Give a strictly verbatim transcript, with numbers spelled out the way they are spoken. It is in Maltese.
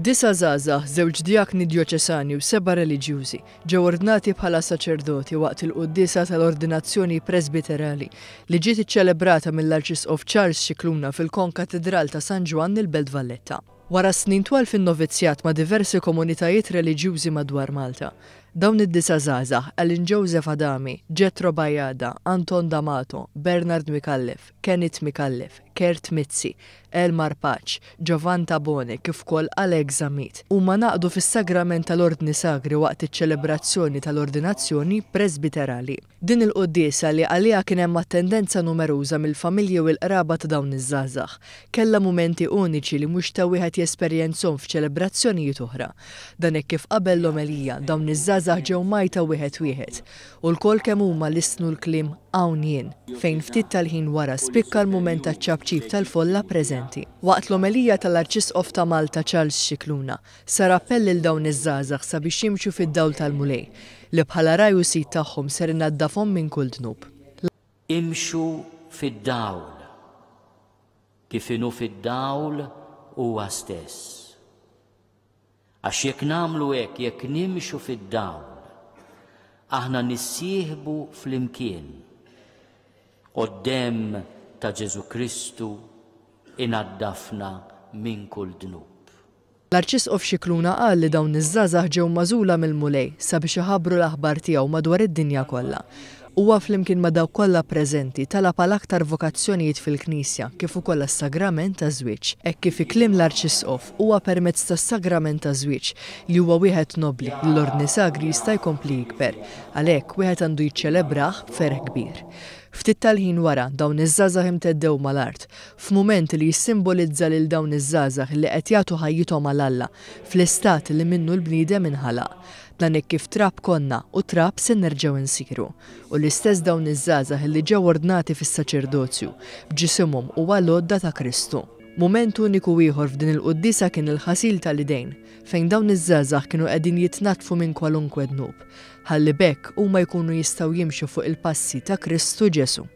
Disa' żgħażagħ, żewġ djakni djoċesani u seba' reliġjużi ġew ordnati bħala saċerdoti waqt il-quddiesa tal-ordinazzjoni presbiterali li ġiet iċċelebrata mill-Arċisqof Charles Scicluna fil-Konkatidral ta' San Ġwann il-Belt Valletta. Wara snin twal fin-novizzjat ma' diversi komunitajiet reliġjużi madwar Malta, dawn id-disa' żgħażagħ, Alan Joseph Adami, Jethro Bajada, Anton D'Amato, Bernard Micallef, Kenneth Micallef, Kurt Mizzi, Elmar Pace, Giovan Tabone kif ukoll Alex Zammit, huma ngħaqdu fis-sagrament tal-Ordni Sagri waqt iċ-ċelebrazzjoni tal-ordinazzjoni presbiterali. Din il-quddiesa, li għaliha kien hemm attendenza numeruża mill-familji u l-qraba ta' dawn iż-żgħażagħ, kellha mumenti uniċi li mhux ta' wieħed jesperjenzhom f'ċelebrazzjonijiet oħra. Dan hekk kif qabel l-omelija dawn iż-żgħażagħ ġew mgħajta wieħed wieħed u lkoll kemm huma lissnu l-kliem "Hawn jien", fejn ftit tal-ħin wara spikka l-mument taċ-ċapċip tal-folla preżenti. Waqt l-omelija tal-Arċisqof ta' Malta Charles Scicluna sar appell lil dawn iż-żgħażagħ sabiex jimxu fid-dawl tal-Mulej li bħala ragħaj u sid tagħhom ser inaddafhom minn kull dnub. Imxu fid-dawl, kif inhu fid-dawl huwa stess. Għax jekk nagħmlu hekk, jekk nimxu fid-dawl, aħna nissieħbu flimkien u d-demm ta' Ġesu Kristu inaddafna minn kull dnub. L-Arċisqof Scicluna qal li dawn iż-żgħażagħ ġew magħżula mill-Mulej sabiex iħabbru l-aħbar tiegħu madwar id-dinja kollha. Huwa flimkien ma' dawk kollha preżenti talab għal aktar vokazzjonijiet fil-Knisja kif ukoll għas-sagrament taż-żwieġ. Hekk kif fi kliem l-Arċisqof huwa permezz tas-sagrament taż-żwieġ, li huwa wieħed nobli, li l-Ordni Sagri jista' jkompli jikber. Għalhekk wieħed għandu jiċċelebrah b'ferħ kbir. Ftit tal-ħin wara dawn iż-żgħażagħ imteddew mal-art, f'mument li jissimbolizza lil dawn iż-żgħażagħ li qed jagħtu ħajjithom għal Alla fl-istat li minnu l-bniedem inħalaq. Dan hekk kif trab konna u trab se nerġgħu nsiru. U l-istess dawn iż-żgħażagħ li ġew ordnati fis-saċerdozju b'ġisimhom u għal-għodda ta' Kristu. Mument uniku ieħor f'din il-quddiesa kien il-ħasil tal-idejn, fejn dawn iż-żgħażagħ kienu qegħdin jitnaddfu minn kwalunkwe dnub, ħalli b'hekk huma jkunu jistgħu jimxu fuq il-passi ta' Kristu Ġesu.